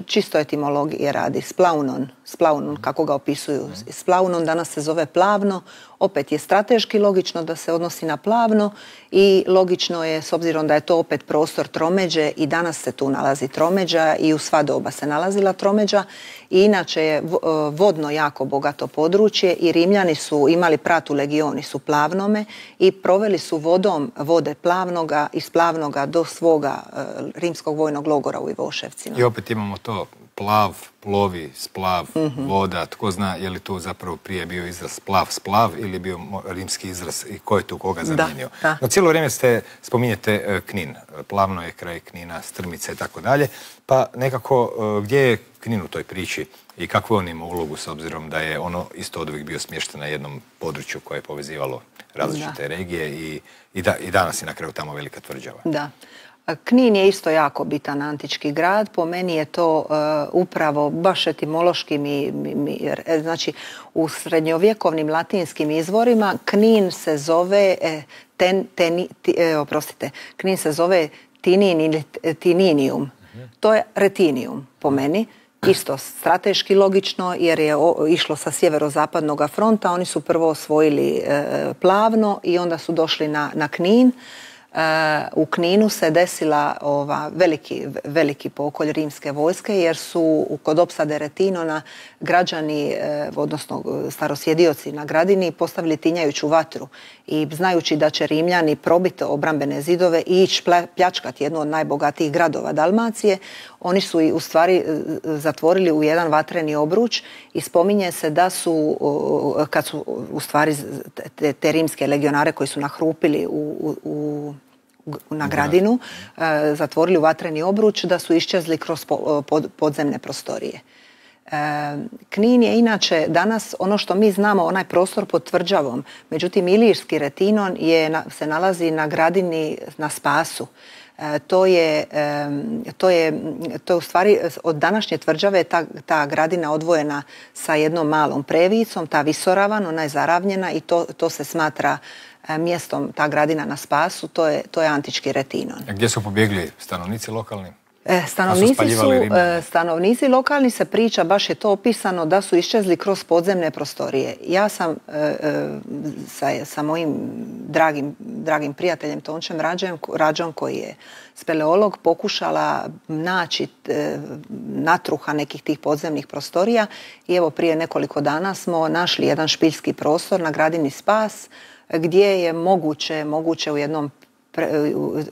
čisto etimologije radi. Splaunon, kako ga opisuju. Splaunon danas se zove Plavno. Opet je strateški logično da se odnosi na Plavno i logično je, s obzirom da je to opet prostor tromeđe, i danas se tu nalazi tromeđa i u sva doba se nalazila tromeđa. I inače je vodno jako bogato područje i Rimljani su imali pratu legioni su Plavnome i proveli su vode Plavnoga, iz Plavnoga do svoga rimskog vojnog logora u Ivoševcima. I opet imamo to plav, plovi, splav, voda. Tko zna je li tu zapravo prije bio izraz plav, splav ili je bio rimski izraz i ko je tu koga zamijenio. No cijelo vrijeme spominjete Knin. Plavno je kraj Knina, Strmice i tako dalje. Pa nekako gdje je Knin u toj priči i kakvu on ima ulogu s obzirom da je ono isto od uvijek bio smješten na jednom području koje je povezivalo različite regije i danas je na kraju tamo velika tvrđava. Da. Knin je isto jako bitan antički grad. Po meni je to upravo baš etimološki znači u srednjovjekovnim latinskim izvorima Knin se zove Knin se zove Tinin ili Tininium. To je Retinium po meni. Isto strateški logično jer je išlo sa sjeverozapadnog fronta. Oni su prvo osvojili Plavno i onda su došli na Knin. U Kninu se desila veliki pokolj rimske vojske jer su kod opsade Retinona građani, odnosno starosjedioci na gradini, postavili tinjajuću vatru i znajući da će Rimljani probiti obrambene zidove i ići pljačkati jednu od najbogatijih gradova Dalmacije, oni su u stvari zatvorili u jedan vatreni obruč i spominje se da su, kad su u stvari te rimske legionare koji su nahrupili na gradinu, zatvorili u vatreni obruč, da su iščezli kroz podzemne prostorije. Knin je inače danas ono što mi znamo, onaj prostor pod tvrđavom, međutim Ilirski Retinon se nalazi na gradini na Spasu. To je u stvari od današnje tvrđave ta gradina odvojena sa jednom malom previcom, ta visoravan, ona je zaravnjena i to se smatra mjestom, ta gradina na Spasu, to je antički Retinon. A gdje su pobjegli stanovnici lokalni? Stanovnici lokalni se priča, baš je to opisano, da su iščezli kroz podzemne prostorije. Ja sam sa mojim dragim prijateljem Tončem Rađom, koji je speleolog, pokušala naći natruha nekih tih podzemnih prostorija i evo prije nekoliko dana smo našli jedan špiljski prostor na gradini Spas gdje je moguće u jednom,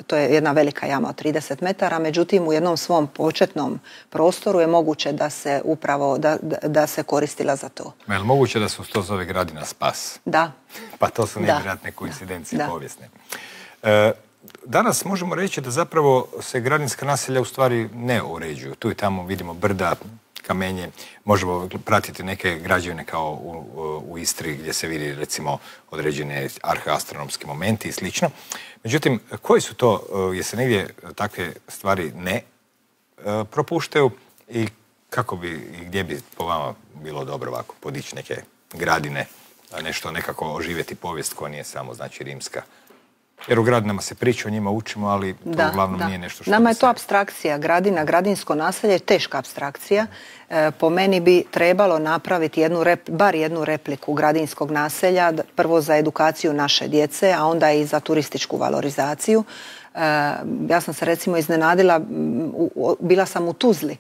to je jedna velika jama od 30 metara, međutim u jednom svom početnom prostoru je moguće da se upravo, da se koristila za to. Je li moguće da su to zove gradina Spas? Da. Pa to su nevjerojatne koincidencije povijesne. Danas možemo reći da zapravo se gradinska naselja u stvari ne uređuju. Tu i tamo vidimo brda, kamenje, možemo pratiti neke građevine kao u Istri gdje se vidi recimo određene arheoastronomski momenti i slično. Međutim, koji su to, jer se negdje takve stvari ne propuštaju i kako bi i gdje bi po vama bilo dobro ovako podići neke gradine, nešto nekako oživjeti povijest koja nije samo znači rimska? Jer u gradinama se priča, o njima učimo, ali to uglavnom nije nešto što... Nama je to apstrakcija. Gradina, gradinsko naselje je teška apstrakcija. Po meni bi trebalo napraviti bar jednu repliku gradinskog naselja, prvo za edukaciju naše djece, a onda i za turističku valorizaciju. Ja sam se recimo iznenadila, bila sam u Tuzli.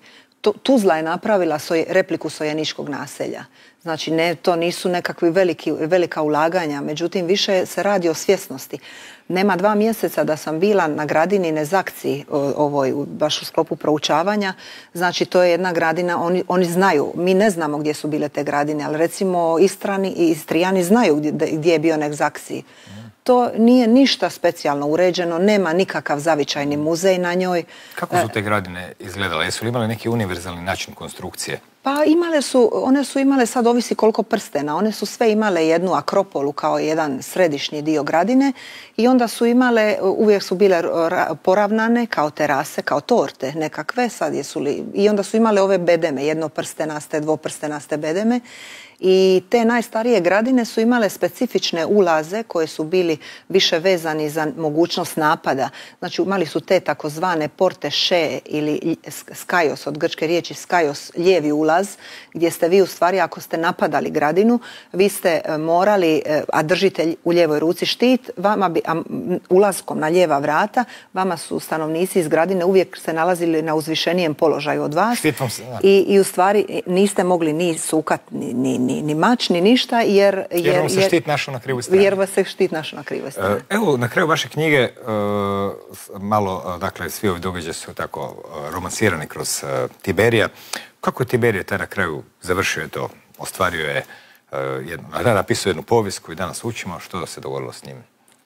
Tuzla je napravila repliku sojeničkog naselja. Znači, to nisu nekakvi velika ulaganja, međutim, više se radi o svjesnosti. Nema 2 mjeseca da sam bila na gradini Nezakci, baš u sklopu proučavanja. Znači, to je jedna gradina, oni znaju, mi ne znamo gdje su bile te gradine, ali recimo Istrani i Istrijani znaju gdje je bio Nezakci. To nije ništa specijalno uređeno, nema nikakav zavičajni muzej na njoj. Kako su te gradine izgledale? Jesu li imale neki univerzalni način konstrukcije? Pa one su imale, sad ovisi koliko prstena, one su sve imale jednu akropolu kao jedan središnji dio gradine i onda su imale, uvijek su bile poravnane kao terase, kao torte nekakve, i onda su imale ove bedeme, jednoprstenaste, dvoprstenaste bedeme. I te najstarije gradine su imale specifične ulaze koji su bili više vezani za mogućnost napada. Znači imali su te takozvane porte še ili skajos, od grčke riječi skajos, lijevi ulaz, gdje ste vi u stvari ako ste napadali gradinu, vi ste morali, a držite u lijevoj ruci štit, ulaskom na lijeva vrata, vama su stanovnici iz gradine uvijek se nalazili na uzvišenijem položaju od vas. I u stvari niste mogli ni sukat, ni mač, ni ništa, jer vam se štit našao na krivoj strani. Jer vas se štit našao na krivoj strani. Evo, na kraju vaše knjige, malo, dakle, svi ovi događaji su tako romansirani kroz Tiberija. Kako je Tiberije taj na kraju završio to? Ostvario je, napisao jednu povijest koju danas učimo. Što se dogodilo s njim?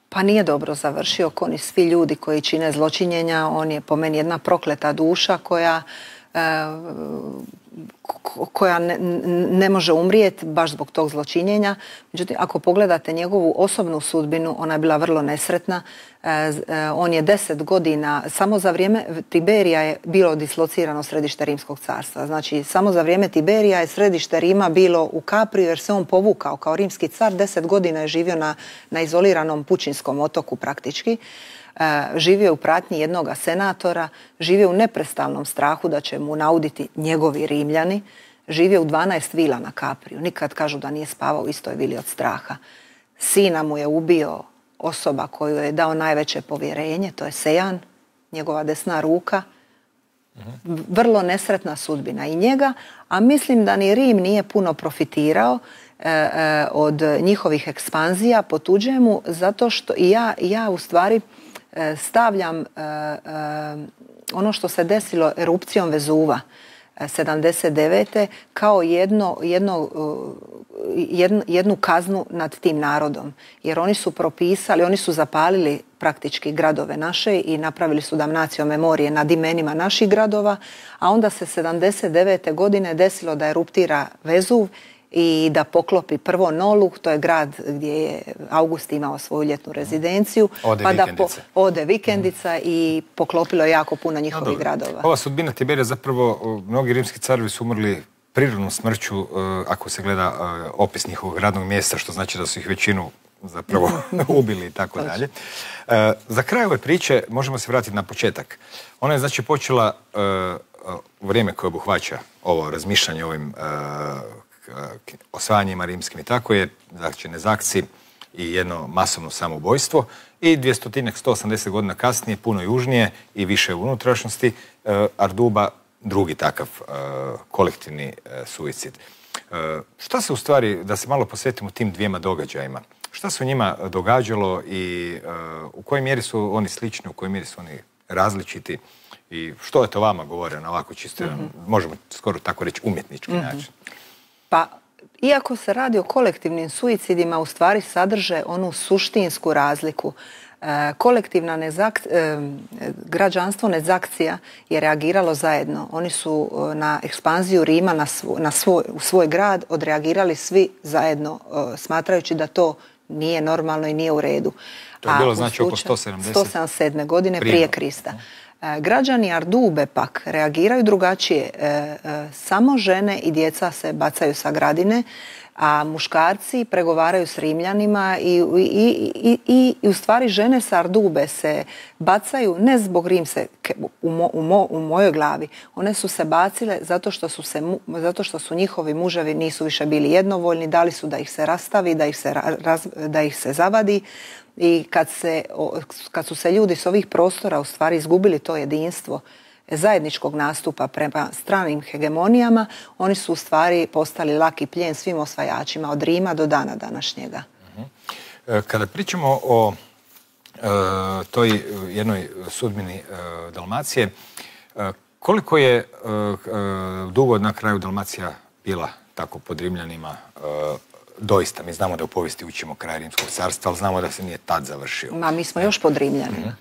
Pa nije dobro završio, kao ni svi ljudi koji čine zločinjenja. On je po meni jedna prokleta duša koja ne može umrijeti baš zbog tog zločinjenja. Međutim, ako pogledate njegovu osobnu sudbinu, ona je bila vrlo nesretna. On je 10 godina, samo za vrijeme Tiberija je bilo dislocirano središte Rimskog carstva. Znači, samo za vrijeme Tiberija je središte Rima bilo u Kapriju jer se on povukao kao rimski car. 10 godina je živio na izoliranom pučinskom otoku praktički. živio u pratnji jednoga senatora, živio u neprestalnom strahu da će mu nauditi njegovi Rimljani, živio u 12 vila na Kapriju. Nikad kažu da nije spavao u istoj vili od straha. Sina mu je ubio osoba koju je dao najveće povjerenje, to je Sejan, njegova desna ruka. Vrlo nesretna sudbina i njega, a mislim da ni Rim nije puno profitirao od njihovih ekspanzija po tuđemu, zato što ja u stvari stavljam ono što se desilo erupcijom Vezuva 79. kao jednu kaznu nad tim narodom. Jer oni su propisali, oni su zapalili praktički gradove naše i napravili su damnatio memorije nad imenima naših gradova, a onda se 79. godine desilo da eruptira Vezuv i da poklopi prvo Nolu, to je grad gdje je August imao svoju ljetnu rezidenciju. Ode vikendica i poklopilo je jako puno njihovih gradova. Ova sudbina Tiberija, zapravo mnogi rimski carevi su umrli prirodnom smrću, ako se gleda opis njihovog radnog mjesta, što znači da su ih većinu zapravo ubili i tako dalje. Za kraj ove priče možemo se vratiti na početak. Ona je znači počela u vrijeme koje obuhvaća ovo razmišljanje o ovim osvajanjima rimskim i tako je, znači Nezakci i jedno masovno samoubojstvo i 180 godina kasnije, puno južnije i više u unutrašnjosti, Arduba, drugi takav kolektivni suicid. Šta se u stvari, da se malo posvetimo tim dvijema događajima, šta se u njima događalo i u kojoj mjeri su oni slični, u kojoj mjeri su oni različiti i što je to vama govore na ovako čisto, možemo skoro tako reći, umjetnički način? Pa, iako se radi o kolektivnim suicidima, u stvari sadrže onu suštinsku razliku. Građanstvo Nezakcija je reagiralo zajedno. Oni su na ekspanziju Rima u svoj grad odreagirali svi zajedno, smatrajući da to nije normalno i nije u redu. To je bilo znači oko 177. godine prije Krista. Građani Ardube pak reagiraju drugačije. Samo žene i djeca se bacaju sa gradine, a muškarci pregovaraju s Rimljanima i u stvari žene sa Ardube se bacaju ne zbog Rimske, u mojoj glavi. One su se bacile zato što su njihovi muževi nisu više bili jednovoljni, dali su da ih se rastavi, da ih se zavadi. I kad su se ljudi s ovih prostora u stvari izgubili to jedinstvo zajedničkog nastupa prema stranim hegemonijama, oni su u stvari postali laki plijen svim osvajačima od Rima do dana današnjega. Kada pričamo o toj jednoj sudbini Dalmacije, koliko je dugo na kraju Dalmacija bila tako pod Rimljanima? Doista, mi znamo da u povijesti učimo kraj Rimskog carstva, ali znamo da se nije tad završio. Mi smo još pod Rimljanima.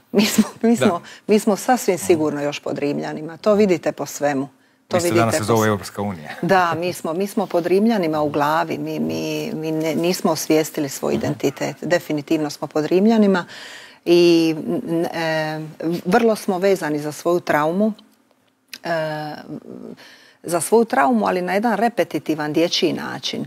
Mi smo sasvim sigurno još pod Rimljanima. To vidite po svemu. Isto danas se zove Europska unija. Da, mi smo pod Rimljanima u glavi. Mi nismo osvijestili svoj identitet. Definitivno smo pod Rimljanima i vrlo smo vezani za svoju traumu. Ali na jedan repetitivan dječji način.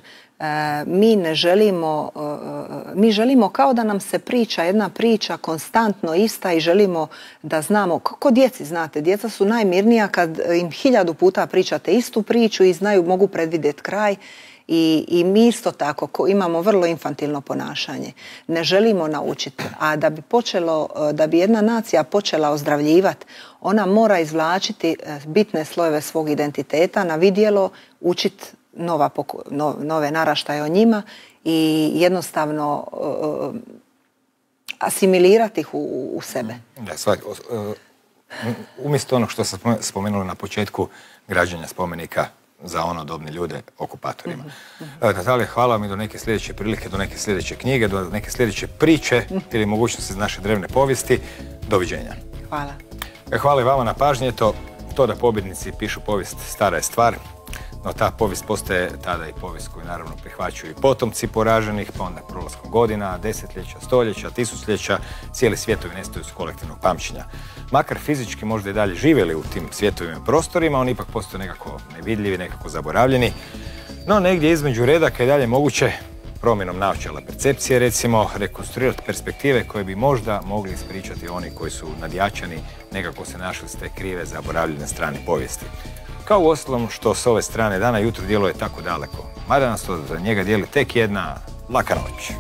Mi želimo kao da nam se priča jedna priča konstantno ista i želimo da znamo, kako djeci znate, djeca su najmirnija kad im 1000 puta pričate istu priču i mogu predvidjeti kraj i mi isto tako imamo vrlo infantilno ponašanje. Ne želimo naučiti, a da bi jedna nacija počela ozdravljivati, ona mora izvlačiti bitne slojeve svog identiteta na vidjelo, učiti nove naraštaje o njima i jednostavno asimilirati ih u sebe. Umjesto onog što sam spomenula na početku, građenja spomenika za onodobne ljude okupatorima. Natalija, hvala vam i do neke sljedeće prilike, do neke sljedeće knjige, do neke sljedeće priče ili mogućnosti iz naše drevne povijesti. Doviđenja. Hvala. Hvala i vama na pažnji. To da pobjednici pišu povijest stara je stvar. No ta povijest postaje tada i povijest koju naravno prihvaćaju i potomci poraženih, pa onda prolaskom godina, desetljeća, stoljeća, tisućljeća, cijeli svijetovi nestaju s kolektivnog pamćenja. Makar fizički možda i dalje živjeli u tim svjetovima i prostorima, oni ipak postaju nekako nevidljivi, nekako zaboravljeni. No negdje između redaka je dalje moguće promjenom naočala percepcije, recimo, rekonstruirati perspektive koje bi možda mogli ispričati oni koji su nadjačani, nekako se našli s te krive, zaboravljene strane povijesti. Kao uostalom što s ove strane dana jutro djeluje tako daleko, mada nas to za njega dijeli tek jedna laka noć.